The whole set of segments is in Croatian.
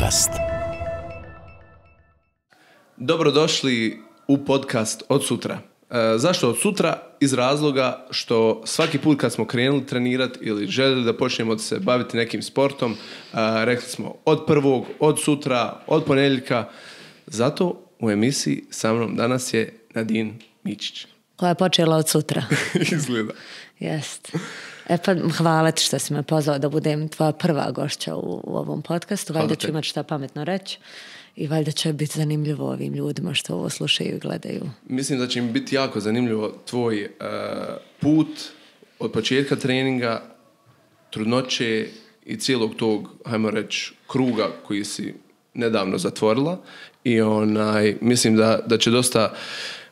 Podcast. Dobrodošli u podcast Od sutra. Zašto od sutra? Iz razloga što svaki put kad smo krenuli trenirati ili željeli da počnemo se baviti nekim sportom, rekli smo od prvog, od sutra, od ponedjeljka. Zato u emisiji sa mnom danas je Nadine Mičić. Koja je počela od sutra. Izgleda. Jest. Pa hvala ti što si me pozvao da budem tvoja prva gošća u ovom podcastu. Valjda ću imati šta pametno reći i valjda će biti zanimljivo ovim ljudima što ovo slušaju i gledaju. Mislim da će im biti jako zanimljivo tvoj put od početka treninga, trudnoće i cijelog tog, hajmo reći, kruga koji si nedavno zatvorila. I mislim da će dosta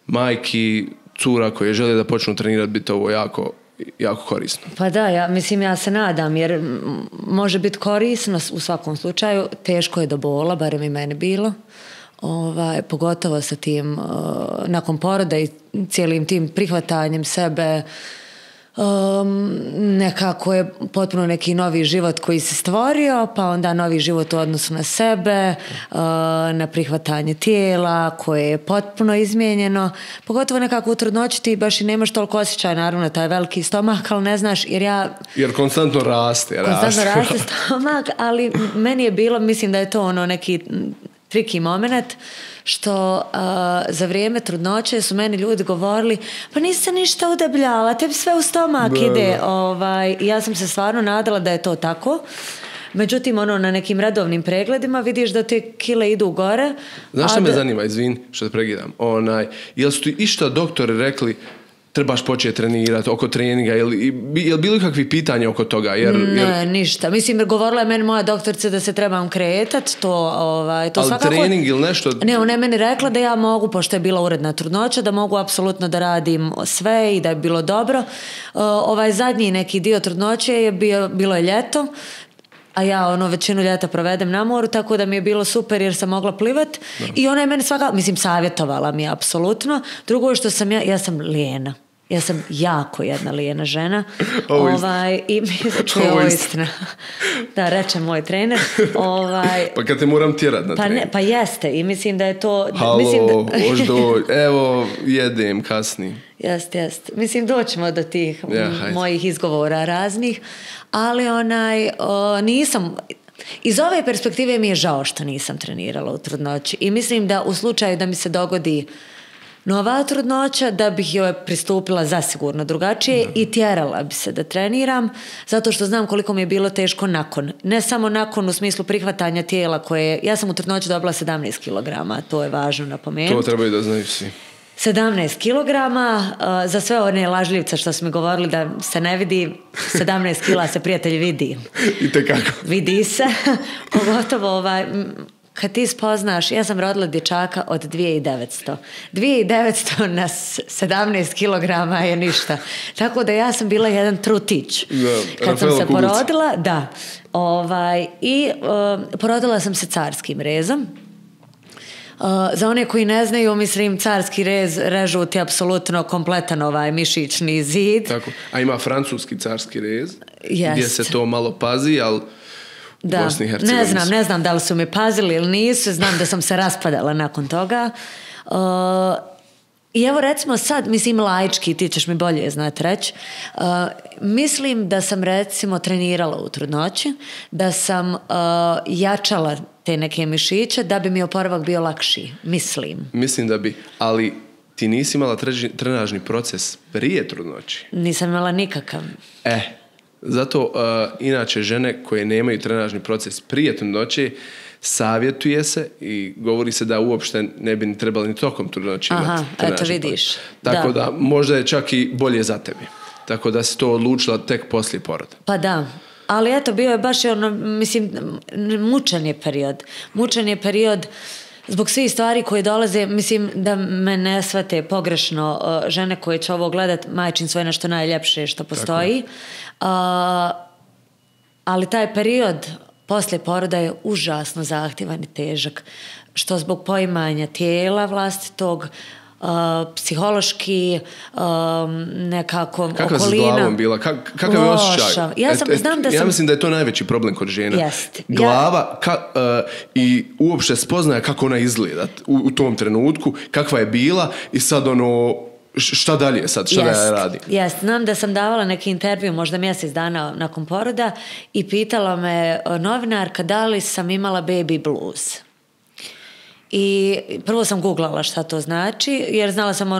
majki, cura koje žele da počnu trenirati biti ovo jako korisno. Pa da, ja se nadam jer može biti korisno u svakom slučaju. Teško je do bola, barem i meni bilo. Pogotovo sa tim nakon poroda i cijelim tim prihvatanjem sebe, nekako je potpuno neki novi život koji se stvorio, pa onda novi život u odnosu na sebe, na prihvatanje tijela koje je potpuno izmijenjeno, pogotovo nekako u trudnoći ti baš i nemaš toliko osjećaj naravno taj veliki stomak, ali ne znaš jer konstantno raste stomak, ali meni je bilo, mislim da je to neki triki moment što za vrijeme trudnoće su meni ljudi govorili pa nisi se ništa udebljala, tebi sve u stomak ide. Ja sam se stvarno nadala da je to tako. Međutim, na nekim redovnim pregledima vidiš da te kile idu gore. Znaš što me zanima, izvini što te pregledam, jel su ti išta doktori rekli trebaš početi trenirati oko treninga, je li bilo kakvih pitanja oko toga? Ne, ništa. Mislim, govorila je meni moja doktorica da se trebam kretati, to ali svakako... trening ili nešto? Ne, ona je meni rekla da ja mogu, pošto je bila uredna trudnoća, da mogu apsolutno da radim sve i da je bilo dobro. Zadnji neki dio trudnoće je bilo je ljeto, a ja većinu ljeta provedem na moru, tako da mi je bilo super jer sam mogla plivat. I ona je meni savjetovala mi apsolutno. Drugo je što ja sam lijena. Ja sam jako jedna lijena žena. I mislim da je ovo istina. Da, reče moj trener. Pa kad te moram tjerat na trening. Pa jeste. I mislim da je to... Halo, evo, jedem kasnije. Jest. Mislim, doćemo do tih mojih izgovora raznih. Ali nisam... Iz ove perspektive mi je žao što nisam trenirala u trudnoći. I mislim da u slučaju da mi se dogodi nova trudnoća, da bih joj pristupila zasigurno drugačije i tjerala bi se da treniram, zato što znam koliko mi je bilo teško nakon. Ne samo nakon u smislu prihvatanja tijela koje... Ja sam u trudnoći dobila 17 kg, to je važno napomenuti. To trebaju da znaju svi. 17 kilograma, za sve one lažljivce što su mi govorili da se ne vidi, 17 kila se prijatelj vidi. Itekako. Vidi se, pogotovo kad ti spoznaš, ja sam rodila dječaka od 2900. 2900 na 17 kilograma je ništa. Tako da ja sam bila jedan trutić. Kad sam se porodila, porodila sam se carskim rezom. Za one koji ne znaju, mislim, carski rez režu ti apsolutno kompletan mišićni zid. Tako. A ima francuski carski rez, gdje se to malo pazi, ali u Bosni i Hercegovini. Ne znam da li su mi pazili ili nisu, znam da sam se raspadala nakon toga. I evo recimo sad, mislim laički, ti ćeš mi bolje znati reći, mislim da sam recimo trenirala u trudnoći, da sam jačala te neke mišiće da bi mi oporavak bio lakši, mislim. Mislim da bi, ali ti nisi imala trenažni proces prije trudnoći. Nisam imala nikakav. Zato inače žene koje nemaju trenažni proces prije trudnoće, savjetuje se i govori se da uopšte ne bi trebali ni tokom trudnoće imati trenažni proces. Vidiš. Tako da možda je čak i bolje za tebi. Tako da si to odlučila tek poslije poroda. Pa da. Ali eto, bio je baš mislim, mučan je period zbog svih stvari koje dolaze, mislim da me ne shvate pogrešno žene koje će ovo gledat, majčinstvo je nešto najljepše što postoji. Ali taj period poslije poroda je užasno zahtjevan i težak, što zbog poimanja tijela vlastitog, psihološki, nekako kakva okolina. Kakva si s glavom bila? Kakav je osjećaj? Ja mislim da je to najveći problem kod žena. Glava i uopšte spoznaja kako ona izgleda u tom trenutku, kakva je bila i sad šta dalje sad, šta da ja radim? Znam da sam davala neki intervju možda mjesec dana nakon poroda i pitala me novinarka da li sam imala baby blues. I prvo sam googlala šta to znači, jer znala sam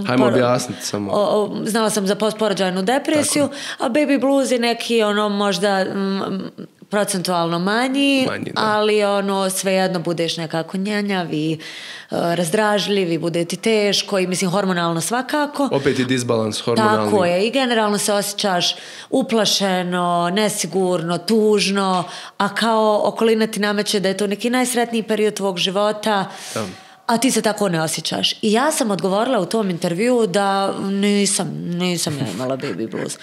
hajmo objasniti samo. Znala sam za postporođajnu depresiju, a baby blues je neki možda procentualno manji, ali svejedno budeš nekako njanjavi, razdražljivi, bude ti teško i mislim hormonalno svakako. Opet je disbalans hormonalni. Tako je i generalno se osjećaš uplašeno, nesigurno, tužno, a kao okolina ti nameće da je to neki najsretniji period tvog života. A ti se tako ne osjećaš. I ja sam odgovorila u tom intervjuu da nisam ja imala baby blues.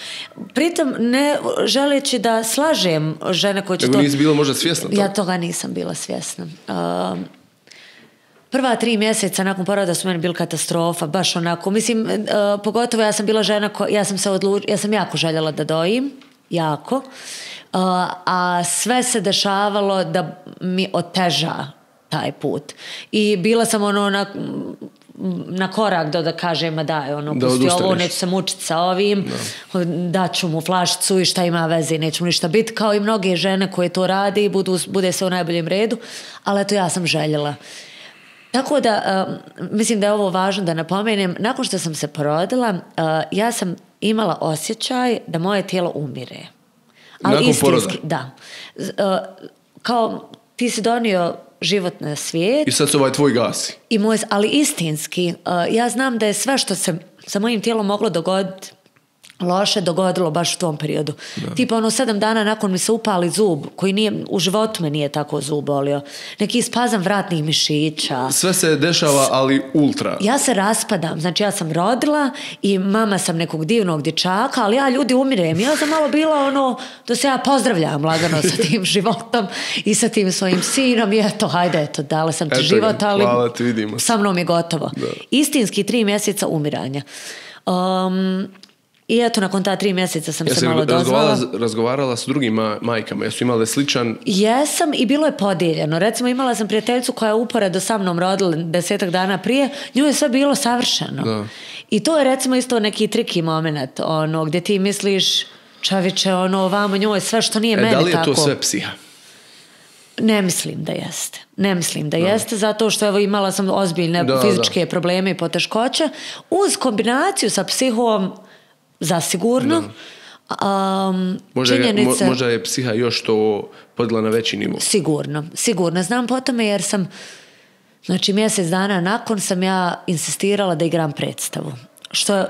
Pritom ne želeći da slažem žene koje će to... Nego nisi bila možda svjesna toga? Ja toga nisam bila svjesna. Prva 3 mjeseca nakon poroda su meni bili katastrofa, baš onako. Mislim, pogotovo ja sam bila žena ja sam jako željela da dojim. Jako. A sve se dešavalo da mi oteža taj put. I bila sam na korak da kažem, pusti ovo, neću se mučiti sa ovim, daću mu flašicu i šta ima veze, neću mu ništa biti, kao i mnoge žene koje to rade i bude se u najboljem redu, ali eto ja sam željela. Tako da, mislim da je ovo važno da napomenem, nakon što sam se porodila, ja sam imala osjećaj da moje tijelo umire. Ali nakon poroda? Da. Kao ti si donio život na svijet. I sad se tvoj gasi. Ali istinski, ja znam da je sve što se sa mojim tijelom moglo dogoditi loše dogodilo baš u tom periodu. Tipa 7 dana nakon mi se upali zub, koji nije, u životu me nije tako zub bolio. Neki spazam vratnih mišića. Sve se dešava, ali ultra. Ja se raspadam. Znači ja sam rodila i mama sam nekog divnog dječaka, ali ja ljudi umirem. Ja sam malo bila da se ja pozdravljam lagano sa tim životom i sa tim svojim sinom i hajde, dala sam ti život, ali hvala, ti vidimo. Sa mnom je gotovo. Da. Istinski 3 mjeseca umiranja. I eto, nakon ta 3 mjeseca sam se malo dozvala. Razgovarala s drugim majkama, jesu imale sličan... Jesam i bilo je podijeljeno. Recimo, imala sam prijateljicu koja je uporedo sa mnom rodila 10 dana prije, nju je sve bilo savršeno. Da. I to je recimo isto neki triki moment, gdje ti misliš, čaviće, ovamo njoj sve što nije meni tako. Da li je to sve psiha? Ne mislim da jeste, zato što imala sam ozbiljne fizičke probleme i poteškoće, uz kombinaciju sa psihom zasigurno. Možda je psiha još to podigla na veći nivo. Sigurno. Znam po tome jer sam, znači mjesec dana nakon sam ja insistirala da igram predstavu. Što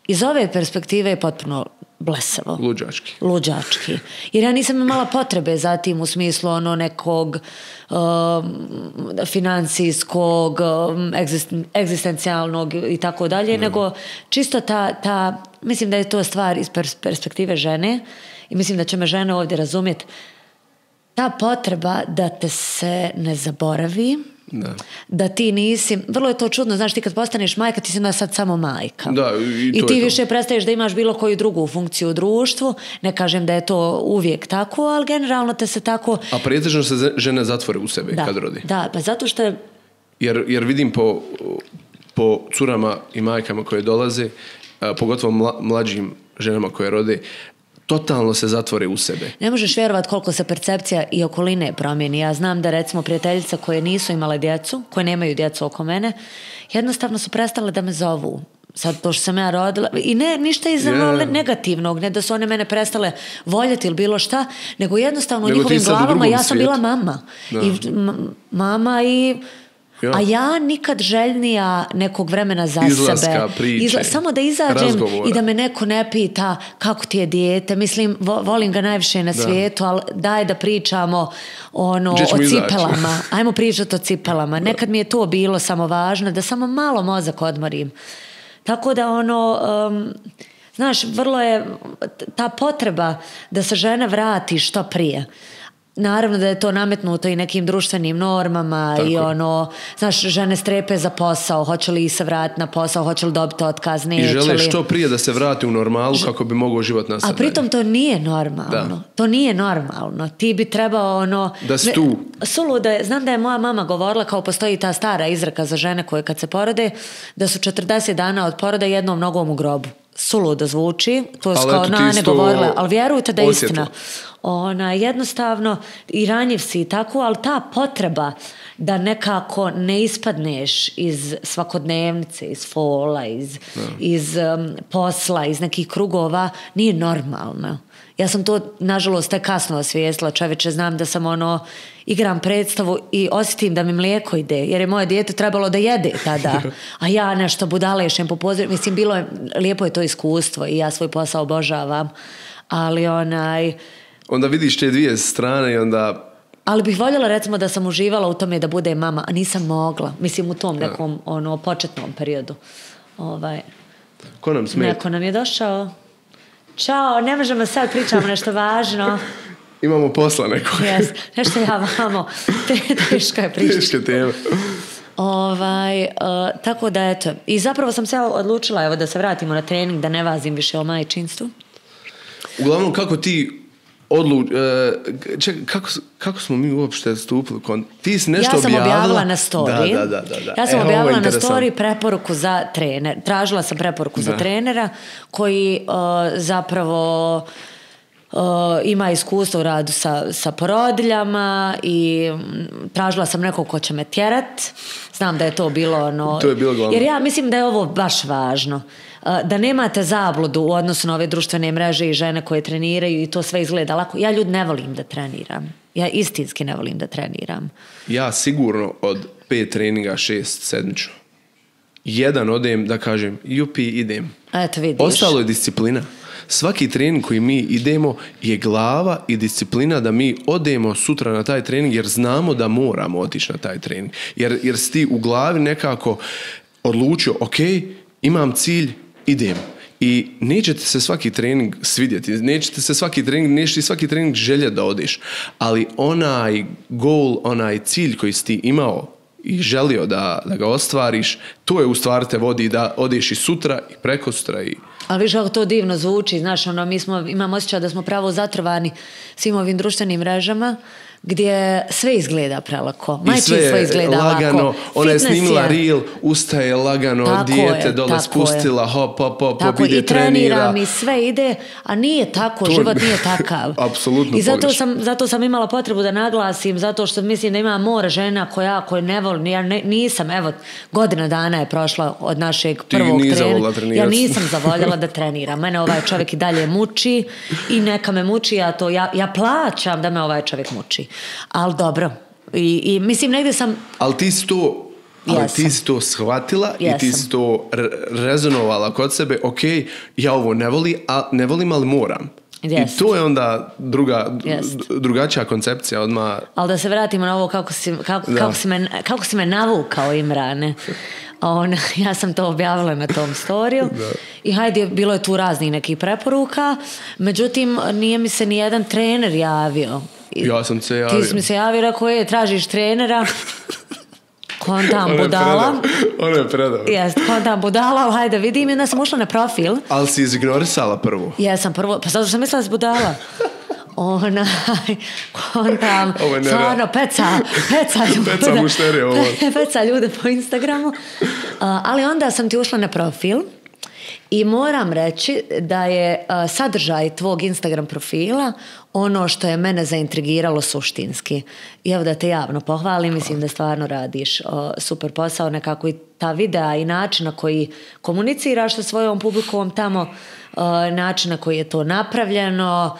iz ove perspektive je potpuno blesavo. Luđački. Jer ja nisam imala potrebe za tim u smislu nekog financijskog, egzistencijalnog i tako dalje, nego čisto ta, mislim da je to stvar iz perspektive žene i mislim da će me žene ovdje razumjeti. Ta potreba da te se ne zaboravi, da ti nisi, vrlo je to čudno, znaš, ti kad postaneš majka, ti si onda sad samo majka. Da, i ti više prestaješ da imaš bilo koju drugu funkciju u društvu, ne kažem da je to uvijek tako, ali generalno te se tako... A pretežno se žene zatvore u sebe kad rodi. Da, pa zato što je... Jer vidim po curama i majkama koje dolaze, pogotovo mlađim ženama koje rode, totalno se zatvore u sebe. Ne možeš vjerovati koliko se percepcija i okoline promijeni. Ja znam da recimo prijateljice koje nisu imale djecu, koje nemaju djecu oko mene, jednostavno su prestale da me zovu. Sad to što sam ja rodila, i ne ništa iz negativnog, ne da su one mene prestale voljeti ili bilo šta, nego jednostavno u njihovim glavama ja sam bila mama. Mama i... A ja nikad željnija nekog vremena za izlaska, sebe. Samo da izađem razgovora. I da me neko ne pita kako ti je dijete. Mislim, volim ga najviše na svijetu, ali daj da pričamo o cipelama. Ajmo pričati o cipelama. Nekad mi je to bilo samo važno, da samo malo mozak odmorim. Tako da znaš, vrlo je ta potreba da se žena vrati što prije. naravno da je to nametnuto i nekim društvenim normama. Tako. I znaš, žene strepe za posao, hoće li se vratiti na posao, hoće li dobiti otkaz, neće li. I žele što prije da se vrati u normalu kako bi mogao život nastaviti. A pritom to nije normalno. To nije normalno. Ti bi trebao da si tu. Suludo je, znam da je moja mama govorila, kao postoji ta stara izreka za žene koje kad se porode, da su 40 dana od poroda jednom nogom u grobu. Suludo zvuči, to je kao nane govorile, ali vjerujte da je istina. Jednostavno i ranjiv si tako, ali ta potreba da nekako ne ispadneš iz svakodnevnice, iz fola, iz posla, iz nekih krugova, nije normalno. Ja sam to, nažalost, tek kasno osvijestila, čoveče, znam da sam igram predstavu i osjetim da mi mlijeko ide, jer je moje dijete trebalo da jede tada, a ja nešto budalešem po pozorju. Mislim, lijepo je to iskustvo i ja svoj posao obožavam, ali onda vidiš te dvije strane i onda... Ali bih voljela, recimo, da sam uživala u tome da bude mama, a nisam mogla. Mislim, u tom nekom početnom periodu. Ko nam smeta? Neko nam je došao. Ćao, ne možemo sad pričamo nešto važno. Imamo posla nekog. Yes, nešto ja vamo. Teška je priča. Teške teme. Tako da, eto. I zapravo sam se odlučila da se vratimo na trening, da ne vazim više o majčinstvu. Uglavnom, kako ti kako smo mi uopšte stupili? Ti si nešto objavila? Ja sam objavila na story. Da. Ja sam objavila na story preporuku za trener. Tražila sam preporuku za trenera koji zapravo ima iskustvo u radu sa porodiljama i tražila sam nekog ko će me tjerat. Znam da je to bilo to je bilo glavno. Jer ja mislim da je ovo baš važno. Da nemate zabludu u odnosu na ove društvene mreže i žene koje treniraju i to sve izgleda lako. Ja ljudi ne volim da treniram. Ja istinski ne volim da treniram. Ja sigurno od 5 treninga 6 sedmično. Jedan odem da kažem jupi idem. Eto vidiš. Ostalo je disciplina. Svaki trening koji mi idemo je glava i disciplina da mi odemo sutra na taj trening jer znamo da moramo otići na taj trening. Jer si ti u glavi nekako odlučio, ok, imam cilj, idem. I nećete se svaki trening svidjeti, nećete svaki trening željeti da odeš, ali onaj goal, onaj cilj koji si ti imao i želio da ga ostvariš, to je u stvari te vodi da odeš i sutra i prekosutra i... Ali viš kako to divno zvuči, znaš, imam osjećaj da smo pravo zatrvani svim ovim društvenim mrežama, gdje sve izgleda prelako. Majčinstvo izgleda lagano, lako. Ona je snimila reel, ustaje lagano, tako dijete dole spustila, hop, ide, trenira. Treniram i sve ide, a nije tako, život nije takav. Apsolutno i zato sam imala potrebu da naglasim, zato što mislim da ima more žena koje ne volim. Ja nisam, evo, godina dana je prošla od našeg prvog treninga. Ja nisam zavoljela da treniram. Mene ovaj čovjek i dalje muči i neka me muči, ja plaćam da me ovaj čovjek muči. Ali dobro. I mislim negdje sam... Ali ti si to shvatila i ti si to rezonovala kod sebe. Ok, ja ovo ne volim, ali moram. I to je onda drugačija koncepcija odmah. Ali da se vratimo na ovo kako si me navukao, Imrane. Ja sam to objavila na tom storiju i hajde, bilo je tu raznih nekih preporuka, međutim nije mi se nijedan trener javio. Ja sam se javio. Ti si mi se javio, rekao tražiš trenera. Kontam budala. Ono je predao. Jeste, kontam budala, ali hajde vidim, i onda sam ušla na profil. Ali si izignorisala prvo. Jesam prvo, pa sad sam mislila da si budala. Kontam, stvarno, peca mušterije ovo. Peca ljude po Instagramu. Ali onda sam ti ušla na profil i moram reći da je sadržaj tvog Instagram profila ono što je mene zaintrigiralo suštinski. I evo da te javno pohvalim, mislim da stvarno radiš super posao, nekako i ta videa i način na koji komuniciraš sa svojom publikom tamo, način na koji je to napravljeno,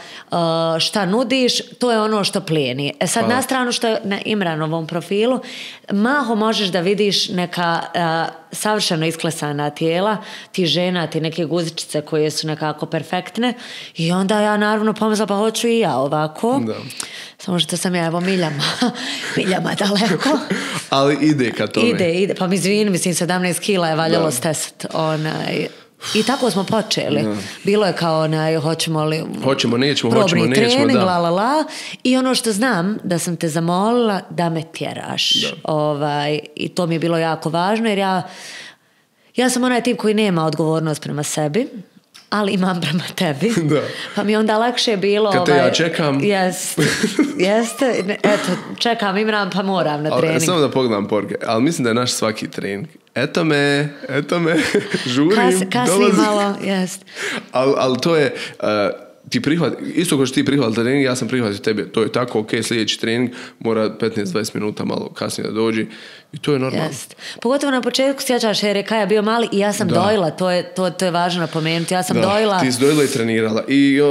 šta nudiš, to je ono što plijeni. Sad na stranu što je na Imranovom profilu, maho možeš da vidiš neka savršeno isklesana tijela, ti žena, ti neke guzičice koje su nekako perfektne i onda ja naravno pomisla pa hoću i ja ovako. Da. Samo što sam ja evo miljama daleko. Ali ide ka tome. Ide. Pa mi izvini, mislim 17 kila je valjalo stesat I tako smo počeli. Bilo je kao hoćemo li nećemo, probni trening, da. I ono što znam da sam te zamolila da me tjeraš. I to mi je bilo jako važno jer ja sam onaj tip koji nema odgovornost prema sebi, ali imam prema tebi. Da. Pa mi onda lakše je bilo... Kad te ja čekam... Jeste. Eto, čekam Imran pa moram na trening. Samo da pogledam poruke. Ali mislim da je naš svaki trening. Eto me, žurim. Kasni malo, jest. Ali to je... ti isto kao što ti prihvati trening, ja sam prihvatio tebe. To je tako, ok, sljedeći trening mora 15-20 minuta malo kasnije da dođi. I to je normalno. Jest. Pogotovo na početku sjećaš jer je Kaja bio mali i ja sam dojila. To je važno napomenuti. Ja sam dojila. Ti si dojila i trenirala. I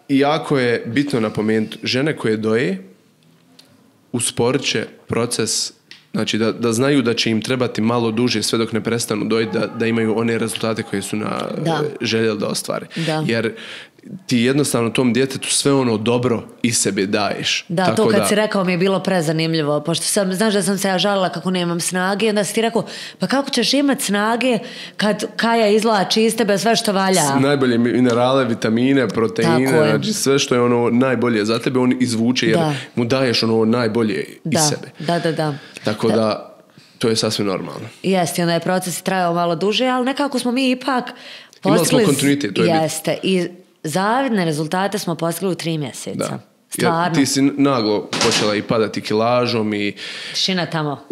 jako je bitno napomenuti, žene koje doje usporit će proces, znači da znaju da će im trebati malo duže sve dok ne prestanu dojiti, da imaju one rezultate koje su željeli da ostvare. Da. Jer ti jednostavno tom djetetu sve ono dobro iz sebe daješ. Da, tako to kad si rekao mi je bilo prezanimljivo, pošto znaš da sam se ja žalila kako nemam snage i onda si ti rekao, pa kako ćeš imati snage kad Kaja izvlači iz tebe sve što valja? Najbolje minerale, vitamine, proteine, znači sve što je ono najbolje za tebe on izvuče jer mu daješ ono najbolje iz sebe. Da. Tako da to je sasvim normalno. Jeste, onda je proces trajao malo duže, ali nekako smo mi ipak imali smo kontinuitet, to je jeste, i zavidne rezultate smo postigli u 3 mjeseca. Da. Stvarno. Ti si naglo počela i padati kilažom i... Tišina tamo.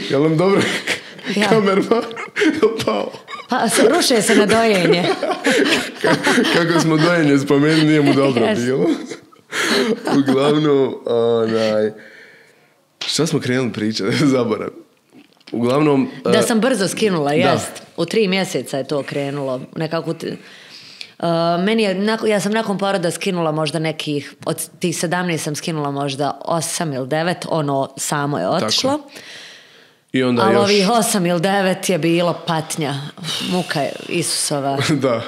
Jel nam dobro kamerman pao? Pa ruše se na dojenje. Kako smo dojenje spomenuli, nije mu dobro bilo. Uglavnom, šta smo krenuli pričati? Zaboravim. Uglavnom... Da sam brzo skinula, jest. U 3 mjeseca je to krenulo. Nekako... ja sam nakon poroda skinula možda nekih, od tih 17 sam skinula možda 8 ili 9, ono samo je otišlo. I onda ali još... ovih 8 ili 9 je bilo patnja, muka je Isusova. Da,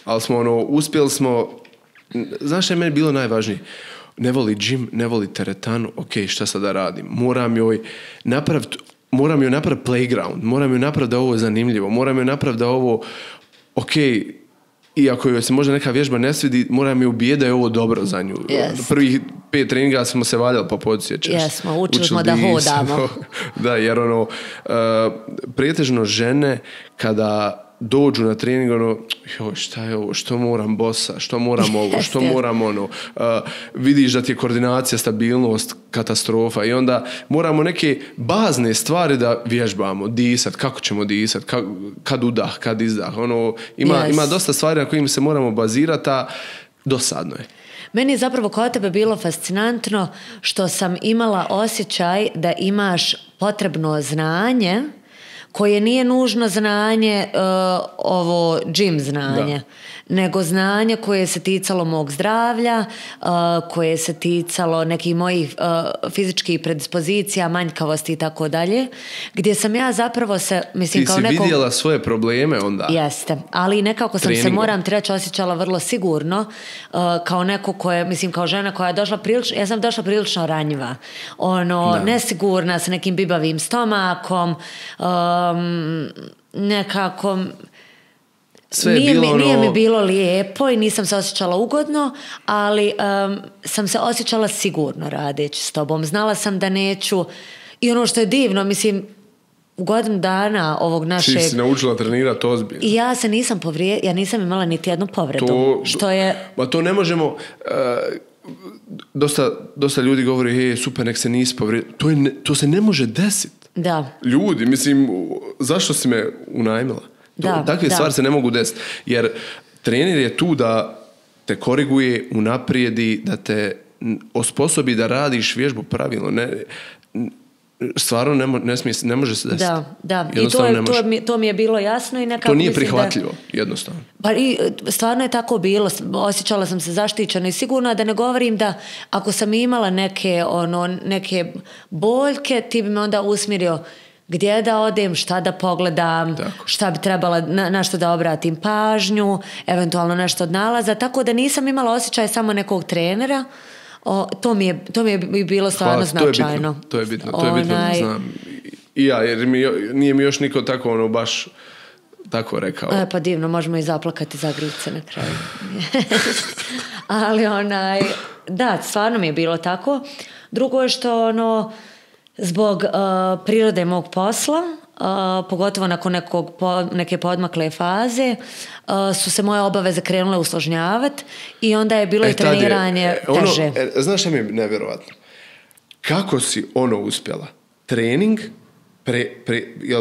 ali smo uspjeli smo, znaš što je meni bilo najvažnije? Ne voli džim, ne voli teretanu, ok, šta sad da radim? Moram joj napraviti playground, moram joj napraviti da ovo je zanimljivo, moram joj napraviti da ovo, ok, iako joj se možda neka vježba ne svidi, moram je ubijeti da je ovo dobro za nju. Yes. Prvih 5 treninga smo se valjali, pa podsjećaš. Jesmo, učili smo da hodamo. Da, jer pretežno žene kada dođu na trening, šta je ovo, što moram bossa, što moram ovo, što moram ono. Vidiš da ti je koordinacija, stabilnost, katastrofa i onda moramo neke bazne stvari da vježbamo, disat, kako ćemo disat, kad udah, kad izdah. Ima dosta stvari na kojim se moramo bazirati, a dosadno je. Meni je zapravo kod tebe bilo fascinantno što sam imala osjećaj da imaš potrebno znanje koje nije nužno znanje ovo gym znanje, nego znanje koje se ticalo mog zdravlja, koje se ticalo nekih mojih fizičkih predispozicija, manjkavosti i tako dalje, gdje sam ja zapravo se, mislim, kao neko... Ti si vidjela svoje probleme onda? Jeste, ali nekako sam se, moram ti reći, osjećala vrlo sigurno, kao neko koje, mislim, kao žena koja je došla prilično, ja sam došla prilično ranjiva, nesigurna, sa nekim bibavim stomakom, nekako nije mi bilo lijepo i nisam se osjećala ugodno, ali sam se osjećala sigurno radeći s tobom. Znala sam da neću, i ono što je divno, mislim, u godinu dana ovog našeg... Ti si naučila trenirati ozbiljno. I ja se nisam ja nisam imala niti jednu povredu. Što je... Ma to ne možemo... Dosta ljudi govori, super, nek se nisi povrijedio. To se ne može desiti. Da. Ljudi, mislim, zašto si me unajmila? Takve stvari se ne mogu desiti. Jer trener je tu da te koriguje, unaprijedi, da te osposobi da radiš vježbu pravilno. Stvarno ne može se desiti. Da. I to mi je bilo jasno i nekako... To nije prihvatljivo, jednostavno. Pa i stvarno je tako bilo. Osjećala sam se zaštićena i sigurna, da ne govorim da ako sam imala neke boljke, ti bi me onda usmjerio gdje da odem, šta da pogledam, šta bi trebala, na što da obratim pažnju, eventualno nešto od nalaza. Tako da nisam imala osjećaj samo nekog trenera. To mi je bilo stvarno značajno. To je bitno, znam. I ja, jer nije mi još niko tako baš tako rekao. Pa divno, možemo i zaplakati za Grlice na kraju. Ali da, stvarno mi je bilo tako. Drugo je što zbog prirode mog posla, pogotovo nakon neke podmakle faze, su se moje obaveze krenule usložnjavati i onda je bilo i treniranje teže. Znaš šta mi je nevjerovatno? Kako si uspjela? Trening,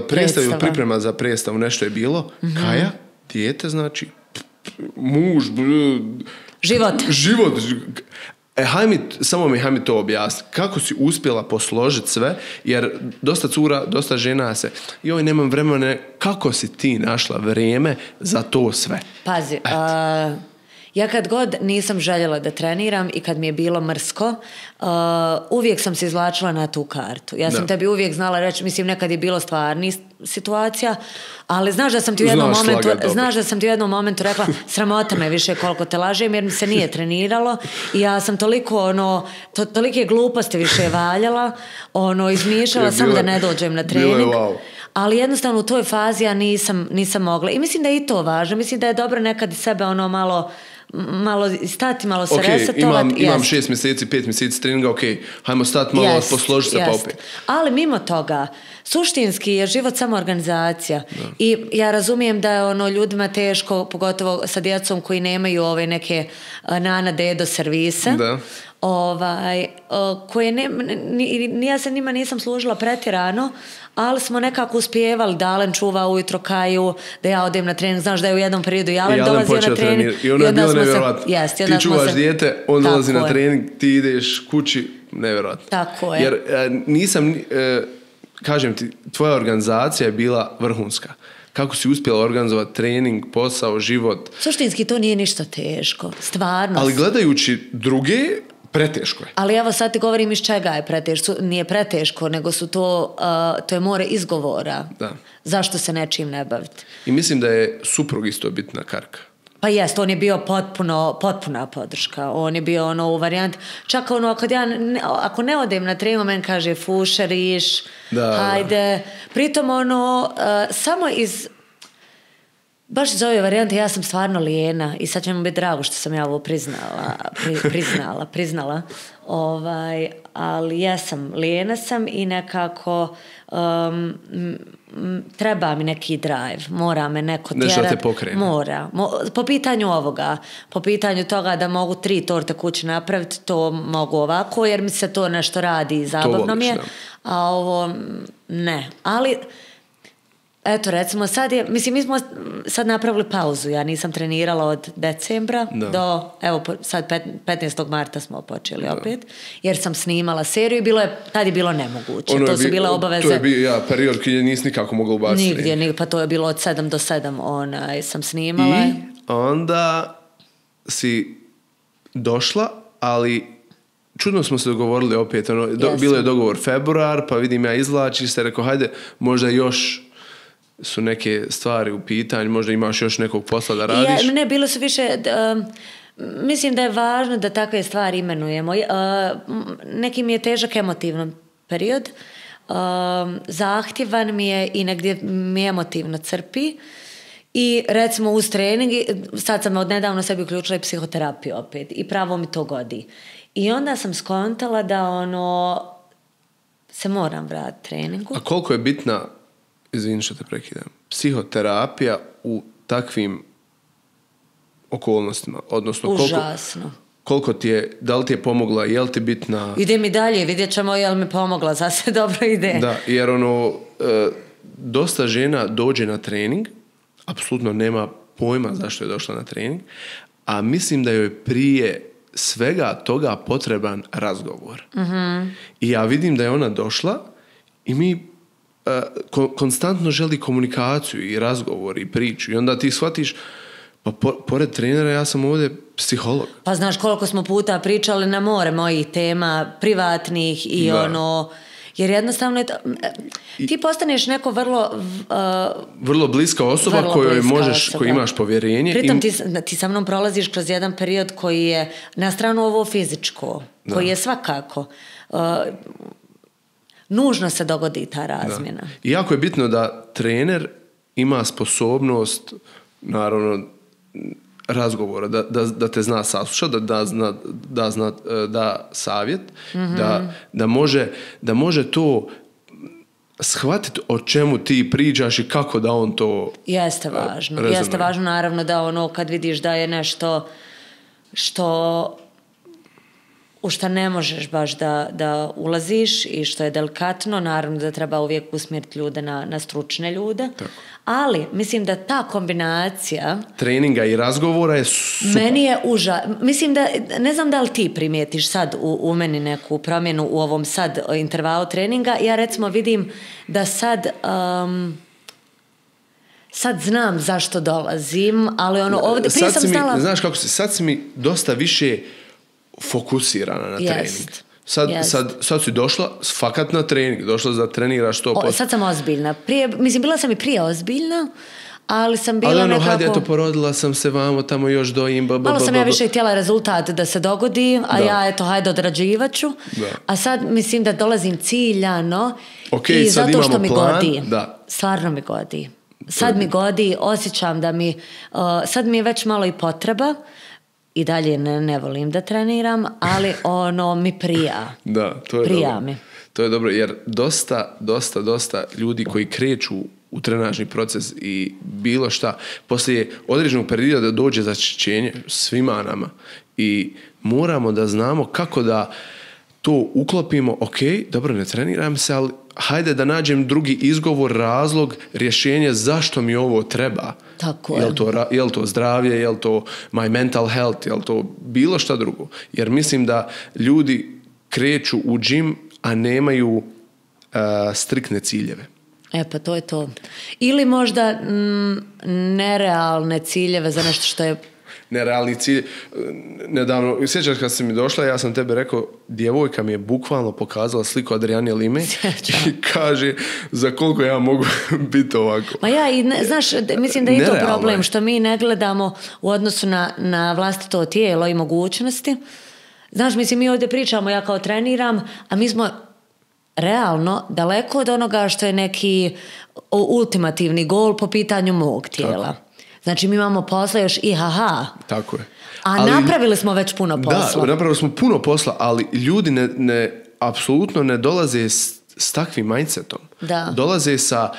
predstavu, priprema za predstavu, nešto je bilo, Kaja, dijete, znači, muž, život. Samo mi to objasni. Kako si uspjela posložiti sve, jer dosta cura, dosta žena se, nemam vremena, kako si ti našla vrijeme za to sve? Pazi, ja kad god nisam željela da treniram i kad mi je bilo mrsko, uvijek sam se izvlačila na tu kartu. Ja sam tebi uvijek znala reći, mislim, nekad je bilo stvarnih situacija, ali znaš da sam ti u jednom momentu rekla, sramota me više koliko te lažem, jer mi se nije treniralo i ja sam toliko tolike gluposti više valjala, izmišljala samo da ne dođem na trening. Ali jednostavno u toj fazi ja nisam mogla. I mislim da je i to važno. Mislim da je dobro nekad sebe malo stati, malo se resetovati. Imam 6 mjeseci, 5 mjeseci treninga, hajmo stati malo, posložiti se pa opet. Ali mimo toga, suštinski je život samo organizacija. Da. I ja razumijem da je ljudima teško, pogotovo sa djecom koji nemaju ove neke nana dedo servise. Da. Koje ja se njima nisam služila pretjerano, ali smo nekako uspijevali da Alen čuva ujutro Kaju, da ja odem na trening. Znaš da je u jednom periodu i Alen dolazio na trening. I ono je bilo nevjerojatno. Ti čuvaš dijete, on dolazi na trening, ti ideš kući, nevjerojatno. Tako je. Jer nisam, kažem ti, tvoja organizacija je bila vrhunska. Kako si uspjela organizovati trening, posao, život. Suštinski to nije ništa teško, stvarno. Ali gledajući druge, preteško je. Ali evo sad ti govorim iz čega je preteško. Nije preteško, nego su to je more izgovora. Da. Zašto se nečim ne baviti. I mislim da je suprug isto bitna karka. Pa jest, on je bio potpuna podrška. On je bio u varijanti. Čak ako ne odem na trening, men kaže fušeriš, hajde. Pritom samo iz... Baš iz ove varijante ja sam stvarno lijena i sad će mi biti drago što sam ja ovo priznala. Ali ja sam lijena sam i nekako treba mi neki drive, mora me neko tjerat. Nešto te pokrene. Mora. Po pitanju ovoga, po pitanju toga da mogu 3 torte kući napraviti, to mogu ovako jer mi se to nešto radi i zabavno mi je. A ovo ne. Ali... Eto, recimo, mi smo sad napravili pauzu. Ja nisam trenirala od decembra do, evo, sad 15. marta smo počeli opet, jer sam snimala seriju i tad je bilo nemoguće. To su bile obaveze. To je bio period koji nisi nikako mogla ubaciti. Nigdje, pa to je bilo od 7 do 7 sam snimala. I onda si došla, ali čudno smo se dogovorili opet. Bilo je dogovor februar, pa vidim ja izvlači se, rekao, hajde, možda još su neke stvari u pitanju, možda imaš još nekog posla da radiš? Ne, bilo su više... mislim da je važno da takve stvari imenujemo. Neki mi je težak emotivno period. Zahtjevan mi je i negdje mi emotivno crpi. I recimo uz trening, sad sam odnedavno sebi uključila i psihoterapiju opet. I pravo mi to godi. I onda sam skontala da se moram vratiti treningu. A koliko je bitna, izvini što te prekidam, psihoterapija u takvim okolnostima? Odnosno, užasno. Koliko ti je, da li ti je pomogla, je li ti bitna? Ide mi dalje, vidjet ćemo je li mi pomogla, zase dobro ide. Da, jer dosta žena dođe na trening, apsolutno nema pojma zašto je došla na trening, a mislim da joj prije svega toga potreban razgovor. Mm-hmm. I ja vidim da je ona došla i mi konstantno želi komunikaciju i razgovor i priču i onda ti shvatiš pa pored trenera ja sam ovdje psiholog. Pa znaš koliko smo puta pričali na more mojih tema privatnih i jer jednostavno ti postaneš neko vrlo bliska osoba kojoj možeš, koji imaš povjerenje. Pritom ti sa mnom prolaziš kroz jedan period koji je na stranu ovo fizičko, koji je svakako nužno se dogodi ta razmjena. I jako je bitno da trener ima sposobnost, naravno, razgovora, da te zna saslušati, da savjet, da može to shvatiti o čemu ti pričaš i kako da on to jeste važno. Rezonuje. Jeste važno, naravno, da kad vidiš da je nešto u što ne možeš baš da ulaziš i što je delikatno, naravno da treba uvijek usmjeriti ljude na stručne ljude. Tako. Ali mislim da ta kombinacija treninga i razgovora je super. Meni je mislim da, ne znam da li ti primijetiš sad u meni neku promjenu u ovom sad intervalu treninga. Ja recimo vidim da sad znam zašto dolazim, ali ovdje prije sam znala... Znaš kako sad si mi dosta više fokusirana na trening. Sad si došla fakat na trening, došla da treniraš 100%. Sad sam ozbiljna. Bila sam i prije ozbiljna, ali sam bila nekako... hajde, porodila sam se vamo, tamo još dojim... Malo sam ja više htjela rezultat da se dogodi, a ja hajde odrađivat ću. A sad mislim da dolazim ciljano i zato što mi godi. Stvarno mi godi. Sad mi godi, osjećam da mi... sad mi je već malo i potreba. I dalje ne volim da treniram, ali mi prija. Da, to je prija dobro. Mi. To je dobro, jer dosta ljudi koji kreću u trenažni proces i bilo šta, poslije određenog perioda da dođe začećenje svima nama i moramo da znamo kako da to uklopimo, ok, dobro, ne treniram se, ali hajde da nađem drugi izgovor, razlog, rješenje zašto mi ovo treba. Tako je. Je li to zdravlje, je li to my mental health, je li to bilo šta drugo. Jer mislim da ljudi kreću u džim, a nemaju striktne ciljeve. Pa to je to. Ili možda nerealne ciljeve za nešto što je nerealni cilj. Nedavno, sjećaš kad si mi došla, ja sam tebe rekao, djevojka mi je bukvalno pokazala sliku Adriane Lime i kaže za koliko ja mogu biti ovako. Ma znaš, mislim da je to problem što mi ne gledamo u odnosu na vlastito tijelo i mogućnosti. Znaš, mislim, mi ovdje pričamo, ja kao treniram, a mi smo realno daleko od onoga što je neki ultimativni gol po pitanju mog tijela. Tako. Znači, mi imamo posla još Tako je. Ali napravili smo već puno posla. Da, napravili smo puno posla, ali ljudi apsolutno ne dolaze s takvim mindsetom. Da. Dolaze sa,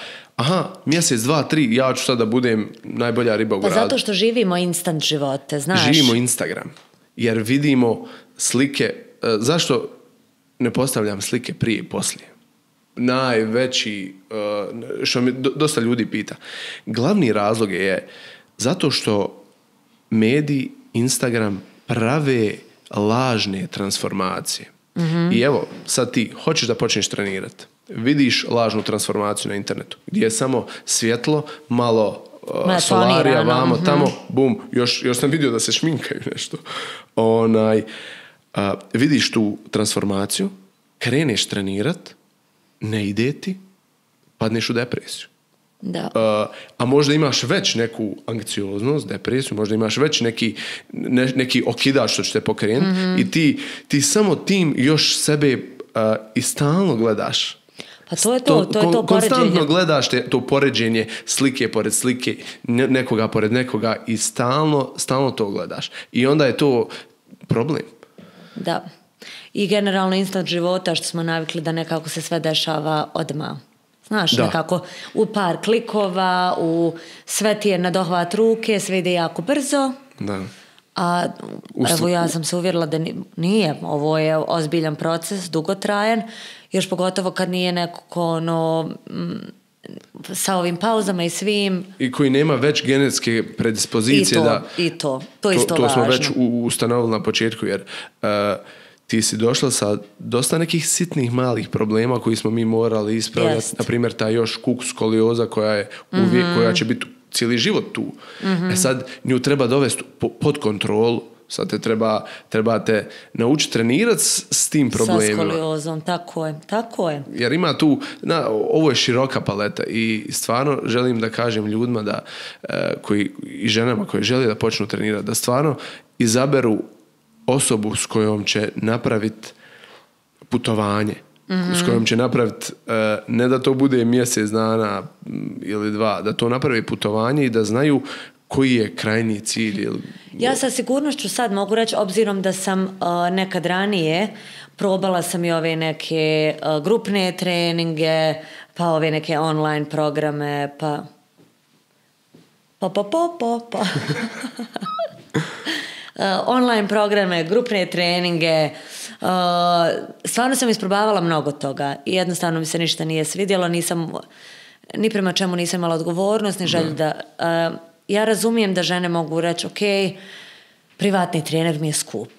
mjesec, 2, 3, ja ću sad da budem najbolja riba u gradu. Zato što živimo instant živote, znaš. Živimo Instagram. Jer vidimo slike. Zašto ne postavljam slike prije i poslije? Najveći, što mi dosta ljudi pita. Glavni razlog je zato što mediji, Instagram prave lažne transformacije. Mm-hmm. I evo, sad ti hoćeš da počneš trenirati. Vidiš lažnu transformaciju na internetu, gdje je samo svjetlo, malo solarija, vamo, tamo, bum, još sam vidio da se šminkaju nešto. Vidiš tu transformaciju, kreneš trenirati, ne ide ti, padneš u depresiju. Da. A možda imaš već neku anksioznost, depresiju, možda imaš već neki okidač što će te pokrenuti, mm-hmm. i ti samo tim još sebe i stalno gledaš. Pa to je to poređenje. Konstantno gledaš to poređenje slike pored slike, nekoga pored nekoga i stalno to gledaš. I onda je to problem. Da. I generalno instant života što smo navikli da nekako se sve dešava odmah. Znaš, nekako u par klikova, sve ti je na dohvat ruke, sve ide jako brzo. Da. A evo ja sam se uvjerila da nije. Ovo je ozbiljan proces, dugotrajan. Još pogotovo kad nije nekako sa ovim pauzama i svim. I koji nema već genetske predispozicije. To je isto to važno. Smo već ustanovili na početku, jer ti si došla sa dosta nekih sitnih malih problema koji smo mi morali ispravljati. Na primjer, ta još skolioza koja je uvijek, koja će biti cijeli život tu. Mm-hmm. Sad nju treba dovesti pod kontrolu. Sad trebate naučiti trenirati s tim problemima. Sa skoliozom, tako je. Jer ima tu, ovo je široka paleta i stvarno želim da kažem ljudima da, i ženama koje žele da počnu trenirati, da stvarno izaberu osobu s kojom će napraviti putovanje. s kojom će napraviti, ne da to bude mjesec dana ili 2, da to napravi putovanje i da znaju koji je krajnji cilj. Ja sa sigurnošću sad mogu reći, obzirom da sam nekad ranije probala sam i ove neke grupne treninge, pa ove neke online programe, pa. Online programe, grupne treninge, stvarno sam isprobavala mnogo toga i jednostavno mi se ništa nije svidjelo, ni prema čemu nisam imala odgovornost, ni želju da... Ja razumijem da žene mogu reći, ok, privatni trener mi je skup.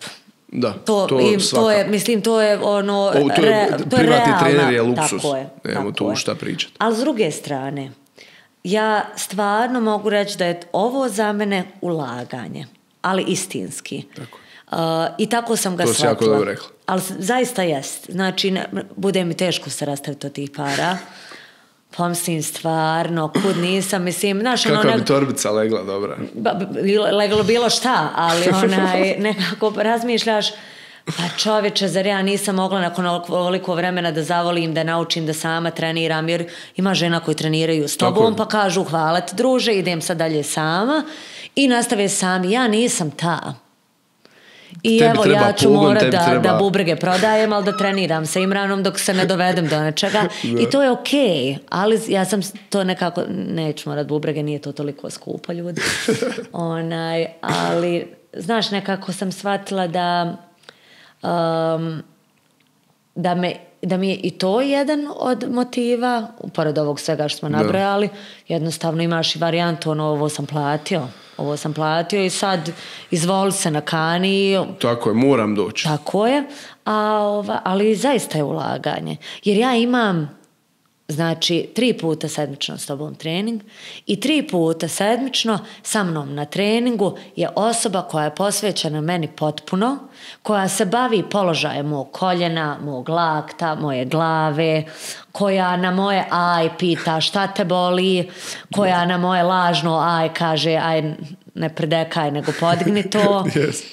Da, to je, mislim, to je ono... Privatni trener je luksus, nemamo tu šta pričati. Ali s druge strane, ja stvarno mogu reći da je ovo za mene ulaganje, ali istinski. Tako. I tako sam ga shvatila. To si jako dobro rekla. Ali zaista jest. Znači, bude mi teško se rastaviti od tih para. Pomslim stvarno, kud nisam, mislim... Kakva bi torbica legla, dobra? Leglo bilo šta, ali nekako razmišljaš, pa čovječe, zar ja nisam mogla nakon ovoliko vremena da zavolim, da naučim da sama treniram, jer ima žena koji treniraju s tobom, pa kažu hvala ti druže, idem sad dalje sama i nastave sami. Ja nisam ta. I tebi evo, ja ću morat da bubrege prodajem, ali da treniram sa Imranom dok se ne dovedem do nečega. I to je okej, ali ja sam to nekako, neću morat bubrege, nije to toliko skupo, ljudi. Ali, znaš, nekako sam shvatila da mi je i to jedan od motiva, pored ovog svega što smo nabrojali, jednostavno imaš i varijantu, ovo sam platio i sad izvoli se na kani. Tako je, moram doći. Tako je, ali zaista je ulaganje. Jer ja imam, znači, 3 puta sedmično s tobom trening i 3 puta sedmično sa mnom na treningu je osoba koja je posvećena meni potpuno, koja se bavi položajem mog koljena, mog lakta, moje glave, koja na moje aj pita šta te boli, koja na moje lažno aj kaže aj ne prdekaj nego podigni to. Yes.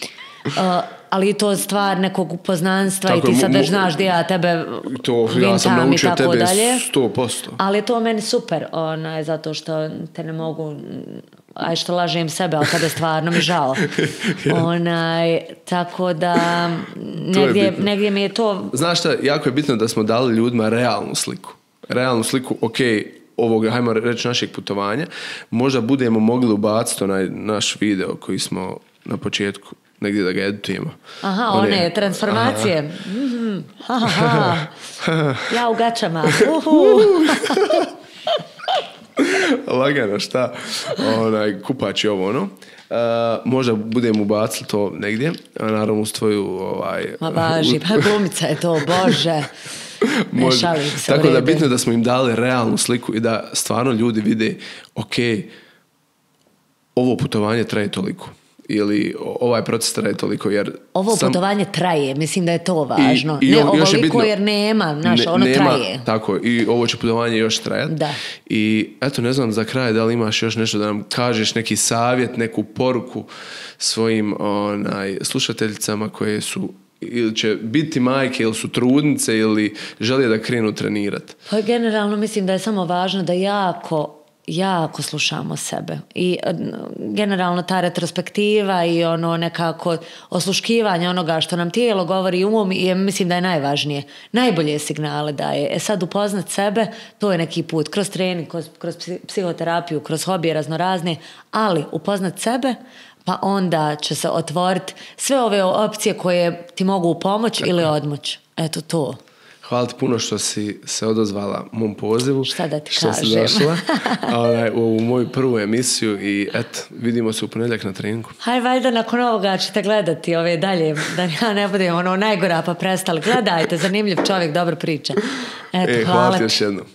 Ali i to stvar nekog upoznanstva tako, i ti sad znaš gdje ja tebe ja sam naučio tebe dalje. 100%. Ali je to meni super, zato što te ne mogu, aj što lažem sebe, ali kada stvarno mi žao. Tako da negdje mi je to... Znaš šta, jako je bitno da smo dali ljudima realnu sliku, ok, ovog, hajmo reći, našeg putovanja. Možda budemo mogli ubaciti onaj naš video koji smo na početku negdje da ga editujemo. Aha, one transformacije. Mm-hmm. Ja u gačama. Lagano, šta? Kupač je ovo, ono. Možda budemo ubacili to negdje, a naravno uz tvoju... Ma važi, pa glumica je to, Bože. Ne šalim se. Tako da bitno da smo im dali realnu sliku i da stvarno ljudi vide, ok, ovo putovanje traje toliko. Ili ovaj proces traje toliko, jer... Ovo putovanje traje, mislim da je to važno. Ne ovoliko jer nema, ono traje. Tako, i ovo će putovanje još trajati. Da. I eto, ne znam za kraj da li imaš još nešto da nam kažeš, neki savjet, neku poruku svojim slušateljicama koje su ili će biti majke ili su trudnice ili žele da krenu trenirati. Pa generalno mislim da je samo važno da jako slušamo sebe i generalno ta retrospektiva i ono nekako osluškivanje onoga što nam tijelo govori umom i mislim da je najvažnije. Najbolje signale daje. Sad upoznat sebe, to je neki put kroz trening, kroz psihoterapiju, kroz hobije raznorazne, ali upoznat sebe pa onda će se otvoriti sve ove opcije koje ti mogu pomoći ili odmoći. Eto to. Hvala ti puno što si se odozvala mom pozivu. Šta da ti što kažem. Si došla u moju prvu emisiju i eto, vidimo se u ponedjeljak na treningu. Haj, valjda nakon ovoga ćete gledati ove dalje, da ja ne budem najgora pa prestali. Gledajte, zanimljiv čovjek, dobro priča. Eto, hvala ti još jednom.